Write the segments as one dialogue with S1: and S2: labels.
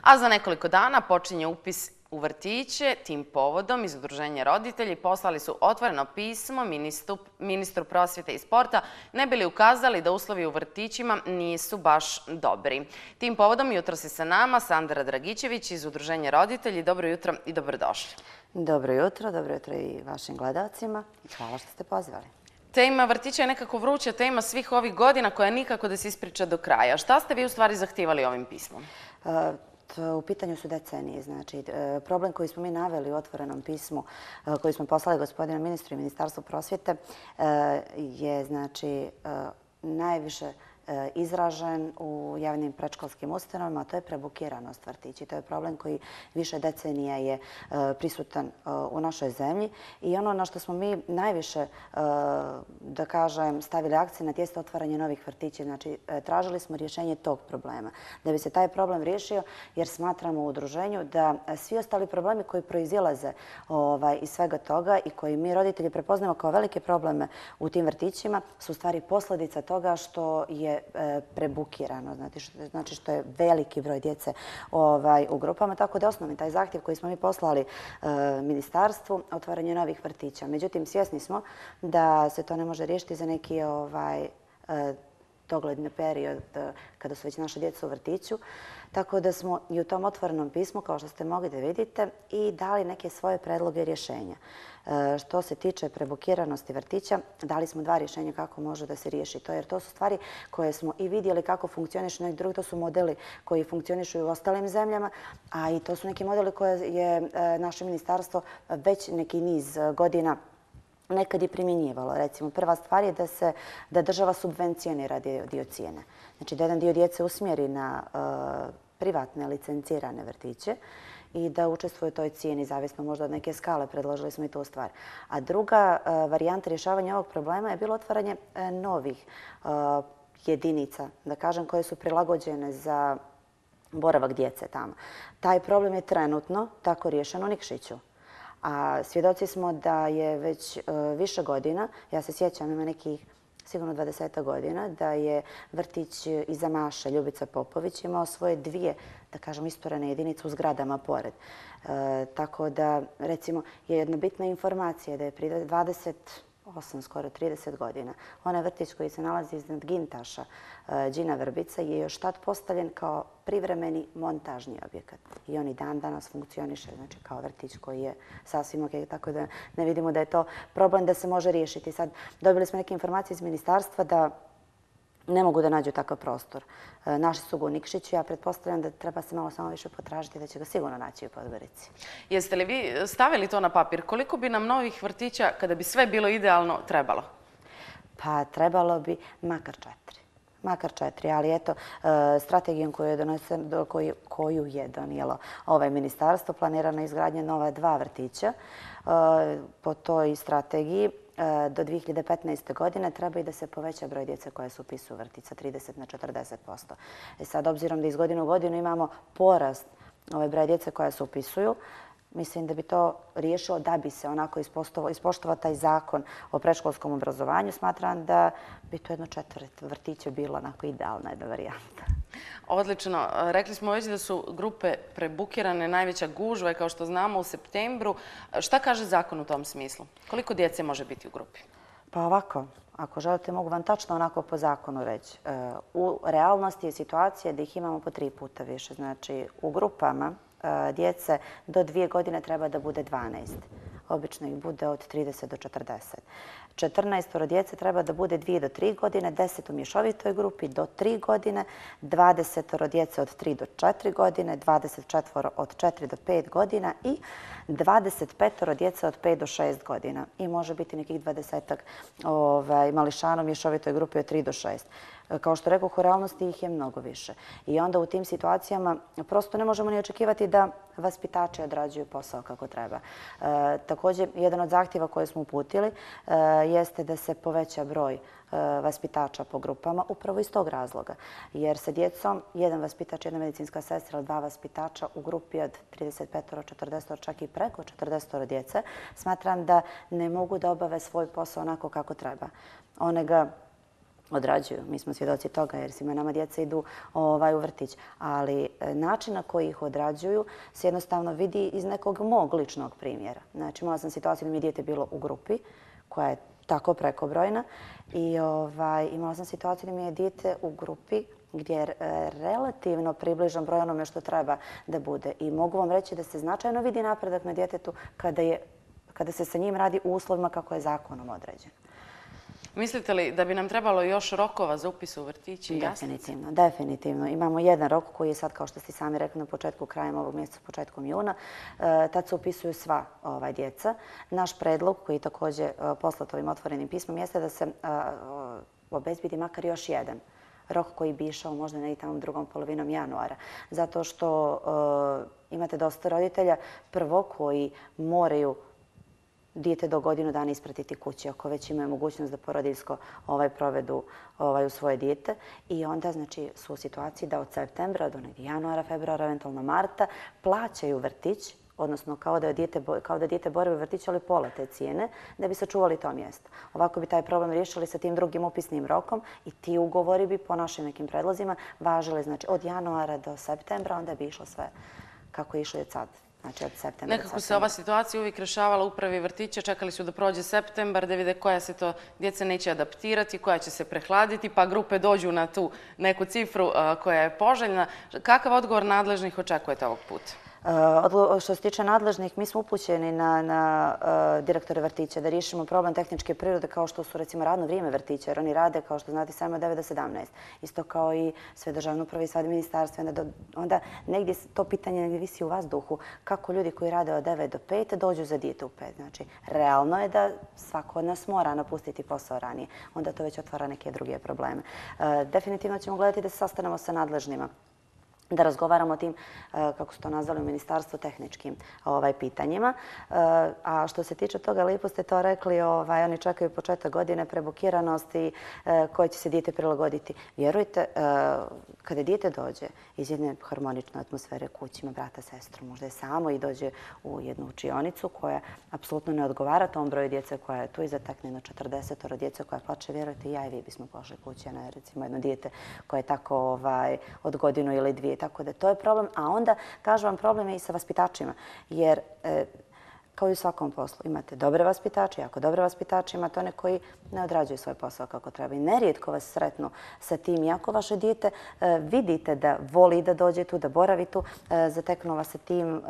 S1: A za nekoliko dana počinje upis u vrtiće. Tim povodom iz Udruženja roditelji poslali su otvoreno pismo ministru prosvjete i sporta, ne bi li ukazali da uslovi u vrtićima nisu baš dobri. Tim povodom jutros je sa nama Sandra Dragičević iz Udruženja roditelji. Dobro jutro i dobrodošli.
S2: Dobro jutro i vašim gledalcima. Hvala što ste pozvali.
S1: Tema vrtića je nekako vruća tema svih ovih godina koja nikako da se ispriča do kraja. Šta ste vi u stvari zahtijevali ovim pismom?
S2: U pitanju su decenije. Znači, problem koji smo mi naveli u otvorenom pismu koji smo poslali gospodinu ministru i Ministarstvu prosvjete je znači najviše izražen u javnim predškolskim ustanovama, a to je prebukiranost vrtića. To je problem koji više decenija je prisutan u našoj zemlji i ono na što smo mi najviše, da kažem, stavili akcenat jeste otvaranje novih vrtića. Znači, tražili smo rješenje tog problema. Da bi se taj problem riješio, jer smatramo u udruženju da svi ostali problemi koji proizilaze iz svega toga i koji mi roditelji prepoznamo kao velike probleme u tim vrtićima su u stvari posljedica toga što je prebukirano, znači što je veliki broj djece u grupama, tako da osnovni taj zahtjev koji smo mi poslali ministarstvu, otvaranje novih vrtića. Međutim, svjesni smo da se to ne može riješiti za neki dogledni period kada su već naša djeca u vrtiću. Tako da smo i u tom otvorenom pismu, kao što ste mogli da vidite, i dali neke svoje predloge rješenja. Što se tiče prebukiranosti vrtića, dali smo dva rješenja kako može da se riješi to, jer to su stvari koje smo i vidjeli kako funkcionišu neki drugi. To su modeli koji funkcionišu i u ostalim zemljama, a i to su neki modeli koje je naše ministarstvo već neki niz godina nekad je primjenjivalo. Recimo, prva stvar je da država subvencionira dio cijene. Znači, da jedan dio djece usmjeri na privatne licencirane vrtiće i da učestvuju u toj cijeni, zavisno možda od neke skale, predložili smo i tu stvar. A druga varijanta rješavanja ovog problema je bilo otvaranje novih jedinica, da kažem, koje su prilagođene za boravak djece tamo. Taj problem je trenutno tako riješen u Nikšiću. A svjedoci smo da je već više godina, ja se sjećam, ima nekih sigurno 20 godina, da je vrtić iza Maše, Ljubica Popović, imao svoje dvije, da kažem, isturene jedinice u zgradama pored. Tako da, recimo, je jedna bitna informacija da je prije 28, skoro 30 godina, onaj vrtić koji se nalazi iznad Gintaša, Đina Vrbica, je još tad postavljen kao privremeni montažni objekat. I on i dan danas funkcioniše, znači kao vrtić koji je sasvim ok, tako da ne vidimo da je to problem da se može riješiti. Sad dobili smo neke informacije iz ministarstva da ne mogu da nađu takav prostor. Naši su ga u Nikšiću, ja pretpostavljam da treba se malo samo više potražiti, da će ga sigurno naći u Podgorici.
S1: Jeste li vi stavili to na papir? Koliko bi nam novih vrtića, kada bi sve bilo idealno, trebalo?
S2: Pa trebalo bi makar četiri, ali eto, strategijom koju je donijelo ovaj ministarstvo, planirana je izgradnja nova 2 vrtića. Po toj strategiji do 2015. godine treba i da se poveća broj djece koje se upisuju u vrtić sa 30 na 40%. Sad, obzirom da iz godine u godinu imamo porast broja djece koja se upisuju, mislim da bi to riješilo da bi se onako ispoštovao taj zakon o predškolskom obrazovanju. Smatram da bi to jedno 4 vrtića bilo onako idealna jedna varijanta.
S1: Odlično. Rekli smo već da su grupe prebukirane, najveća gužva je, kao što znamo, u septembru. Šta kaže zakon u tom smislu? Koliko djece može biti u grupi?
S2: Pa ovako, ako želite, mogu vam tačno onako po zakonu reći. U realnosti je situacija da ih imamo po 3 puta više. Znači, u grupama djece do 2 godine treba da bude 12. Obično ih bude od 30 do 40. 14 djece treba da bude 2 do 3 godine, 10 u mješovitoj grupi do 3 godine, 20 djece od 3 do 4 godine, 24 od 4 do 5 godina i 25 djece od 5 do 6 godina. I može biti nekih 20-ak mališana u mješovitoj grupi od 3 do 6. Kao što rekao, u realnosti ih je mnogo više. I onda u tim situacijama prosto ne možemo ni očekivati da vaspitači odrađuju posao kako treba. Također, jedan od zahtjeva koje smo uputili jeste da se poveća broj vaspitača po grupama upravo iz tog razloga. Jer sa djecom jedan vaspitač, jedna medicinska sestra, 2 vaspitača u grupi od 35, 40, čak i preko 40 djece, smatram da ne mogu da obave svoj posao onako kako treba. One ga odrađuju. Mi smo svjedoci toga jer svima nama djeca idu u vrtić. Ali način na koji ih odrađuju se jednostavno vidi iz nekog mog ličnog primjera. Znači, imala sam situaciju da mi je dijete bilo u grupi koja je tako prekobrojna i imala sam situaciju da mi je dijete u grupi gdje je relativno približan broj onome što treba da bude. I mogu vam reći da se značajno vidi napredak na djetetu kada se sa njim radi u uslovima kako je zakonom određen.
S1: Mislite li da bi nam trebalo još rokova za upis u vrtići?
S2: Definitivno, definitivno. Imamo jedan rok koji je sad, kao što ste sami rekli, na početku, krajem ovog mjeseca, početkom juna. Tad se upisuju sva djeca. Naš predlog, koji je također poslat ovim otvorenim pismom, jeste da se obezbedi makar još jedan rok koji bi išao možda negdje tamo drugom polovinom januara. Zato što imate dosta roditelja prvo koji moraju dijete do godinu dana ispratiti kući, ako već imaju mogućnost da porodiljsko provedu u svoje dijete. I onda znači, su u situaciji da od septembra do negdje januara, februara, eventualno marta plaćaju vrtić, odnosno kao da dijete boravi u vrtiću, ali pola te cijene, da bi sačuvali to mjesto. Ovako bi taj problem riješili sa tim drugim upisnim rokom i ti ugovori bi po našim nekim predlozima važili znači, od januara do septembra, onda bi išlo sve kako je išlo i od sad. Znači od septembra.
S1: Nekako se ova situacija uvijek rješavala upravi vrtića, čekali su da prođe septembar, da vide koja se to djeca neće adaptirati, koja će se prehladiti, pa grupe dođu na tu neku cifru koja je poželjna. Kakav odgovor nadležnih očekujete ovog puta?
S2: Što se tiče nadležnih, mi smo upućeni na direktore vrtića da riješimo problem tehničke prirode kao što su recimo radno vrijeme vrtića, jer oni rade, kao što znate, samo od 9 do 17. Isto kao i sve državne uprave i sve ministarstva. Onda negdje to pitanje negdje visi u vazduhu kako ljudi koji rade od 9 do 5 dođu za dijete u 5. Znači, realno je da svako od nas mora napustiti posao ranije. Onda to već otvara neke druge probleme. Definitivno ćemo gledati da se sastanemo sa nadležnima, da razgovaramo o tim, kako su to nazvali u ministarstvu, tehničkim pitanjima. A što se tiče toga, lijepo ste to rekli, oni čekaju početak godine, prebukiranost i koje će se dijete prilagoditi. Vjerujte, kada dijete dođe iz jedne harmonične atmosfere kući, ima brata, sestru, možda je samo i dođe u jednu učionicu koja apsolutno ne odgovara tom broju djece koja je tu i zatekne jedno 40 djece koja plače, vjerujte, ja i vi bismo pošli kući, a ne recimo jedno dijete koje je tako od godinu ili dvije. Tako da to je problem, a onda, kažem vam, problem je i sa vaspitačima, jer kao i u svakom poslu imate dobre vaspitače, jako dobre vaspitače, imate one koji ne odrađuju svoj posao kako treba. I nerijetko vas sretnu sa tim, iako vaše dijete vidite da voli da dođe tu, da boravi tu, zateknu vas sa tim,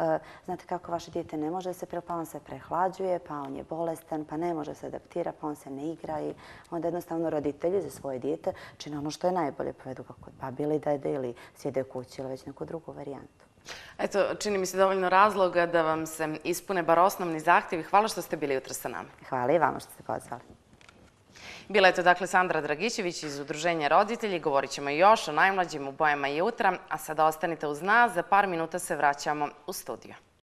S2: znate kako vaše dijete ne može se pa on se prehlađuje, pa on je bolestan, pa ne može se adaptira, pa on se ne igra i onda jednostavno roditelji za svoje dijete čine ono što je najbolje, povedu ga kod babi ili dede ili sjede u kući ili već neku drugu varijantu.
S1: Eto, čini mi se dovoljno razloga da vam se ispune bar osnovni zahtjevi. Hvala što ste bili jutros sa nama.
S2: Hvala i vama što ste pozvali.
S1: Bila je to dakle Sandra Dragićević iz Udruženja roditelji. Govorit ćemo još o najmlađim u bojama jutra, a sada ostanite uz nas. Za par minuta se vraćamo u studio.